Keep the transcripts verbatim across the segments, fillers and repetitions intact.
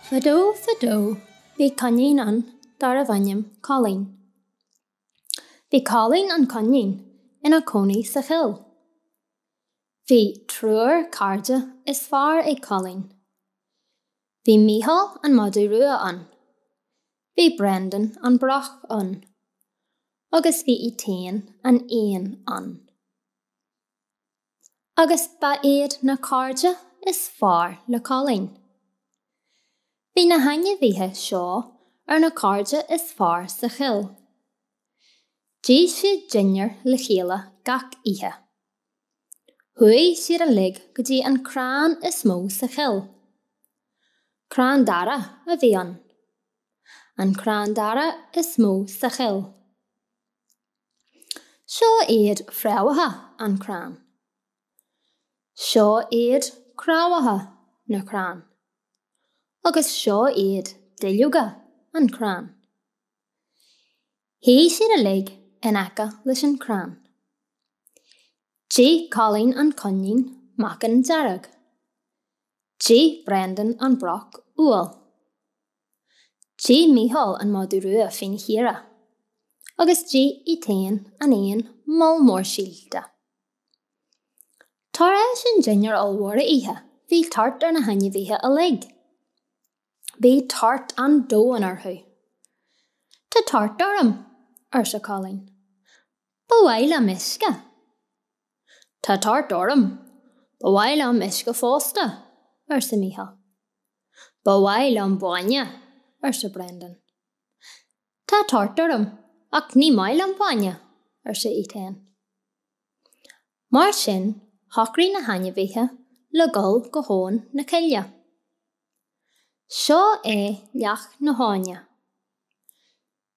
Fadó fadó bhí coinín ann darbh ainm Colleen. Bhí Colleen an coinín ina cónaí sa chill. Bhí triúr cairde is fearr ag Colleen. Bhí Mícheál an madadh rua ann. Bhí Brendan an broc ann. Agus bhí Étain an éan ann. Agus ba iad na cairde is fearr le Colleen. Bhí na hainmhithe seo ar na cairde is fearr sa chill. D'ith siad dinnéar le chéile gach oíche. Chuaigh siad uilig go dtí an crann is mó sa chill. Crann dara a bhí ann. An crann dara is mó sa chill. Seo iad fréamhacha an crann. Seo iad craobhacha na crann. Agus seo iad duilleoga an crann. Shuigh siad uilig in aice leis an crann. D'ith Colleen an coinín meacan dearg. D'ith Brendan an broc úll. D'ith Mícheál an madadh rua fíonchaora. Agus d'ith Étain an éan moll mór síolta. Tar éis an dinnéar ollmhór a ithe, bhí tart ar na hainmhithe uilig. Bhí tart an domhain orthu. Tá tart orm, arsa Colleen. Ba mhaith liom uisce. Tá tart orm, Ba mhaith liom uisce fosta, arsa Mícheál. Ba mhaith liom bainne, arsa Brendan. Tá tart orm, ach ní maith liom bainne, arsa Étain. Mar sin, shocraigh na hainmhithe le dul go habhainn na cille. Seo é leac na habhna.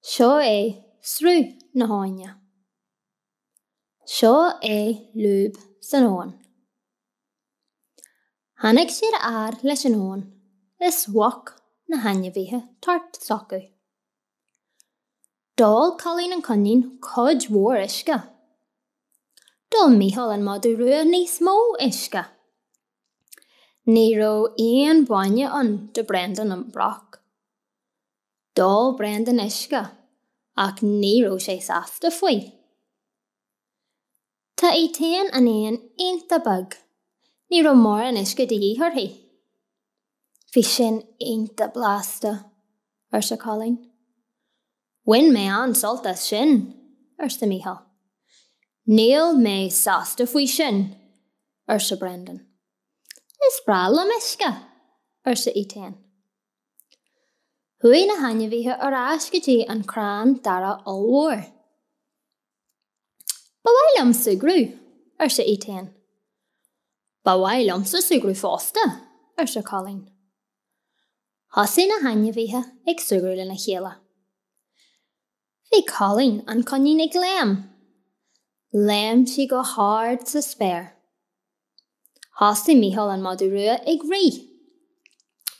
Seo é sruth na habhna. Seo é lúb san abhainn. Tháinig siad a fhad leis an abhainn is mhúch na hainmhithe tart s'acu. D'ól Colleen an coinín cuid mhór uisce. D'ól Mícheál an madadh rua níos mó uisce. Ní raibh aon bhainne ann do Brendan an broc. D'ól Brendan uisce ach ní raibh sé sásta faoi. Tá Étain an éan iontach beag, ní raibh mórán uisce de dhíth uirthi. Bhí sin iontach blasta, arsa Colleen. Bhain mé an-sult as sin, arsa Mícheál. Níl mé sásta faoi sin, arsa Brendan. Is breá liom uisce, arsa Étain. Chuaigh na hainmhithe ar ais go dtí an crann dara ollmhór. Ba mhaith liom súgradh, arsa Étain. Ba mhaith liomsa súgradh fosta, arsa Colleen. Thosaigh na hainmhithe ag súgradh lena chéile. Bhí Colleen an coinín ag léim. Léim sí go hard sa spéir. Thosaigh Mícheál an madadh rua ag rith.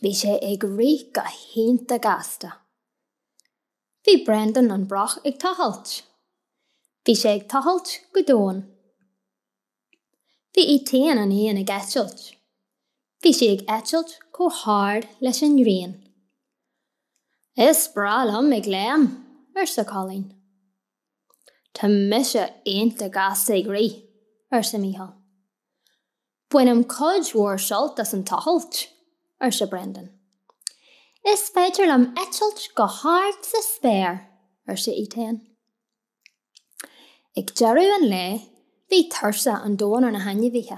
Bhí sé ag rith go hiontach gasta. Bhí Brendan an broc ag tochailt. Bhí sé ag tochailt go domhain. Bhí Étain an éan ag eitilt. Bhí sí ag eitilt chomh hard leis an ngrian. Is breá liom ag léim, arsa Colleen. Tá mise iontach gasta ag rith, arsa Mícheál. Bainim cuid mhór sult as an tochailt, arsa Brendan. Is féidir liom eitilt go hard sa spéir, arsa Étain. Ag deireadh an lae, bhí tuirse an domhain ar na hainmhithe.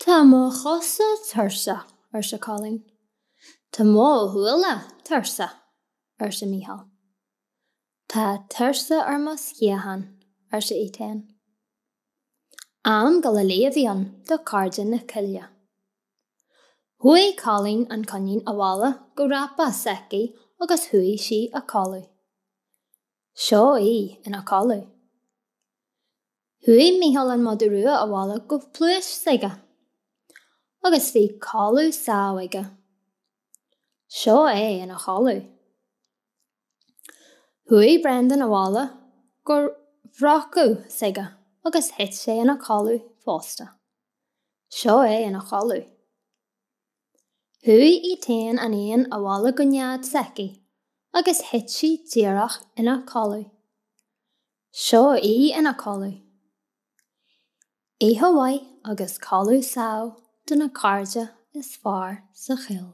Tá mo chosa tuirseach, arsa Colleen. Tá mo shúile tuirseach, arsa Mícheál. Tá tuirse ar mo sciatháin, arsa Étain. Am dul a luí a bhí ann do chairde na cille. Chuaigh Colleen an coinín abhaile go dreapadh s'aici agus chuaigh sí a codladh. Seo í ina codladh. Chuaigh Mícheál an madadh rua abhaile go pluais s'aige. Agus bhí codladh sámh aige. Seo é ina chodladh. Chuaigh Brendan abhaile go bhfraochadh s'aige agus thit sé ina chodladh fosta. Seo é ina chodladh. Chuaigh Etain an éan abhaile go nead s'aici agus thit sí díreach ina codladh. Seo í ina codladh. Oíche mhaith agus codladh sámh do na cairde is fearr sa choill.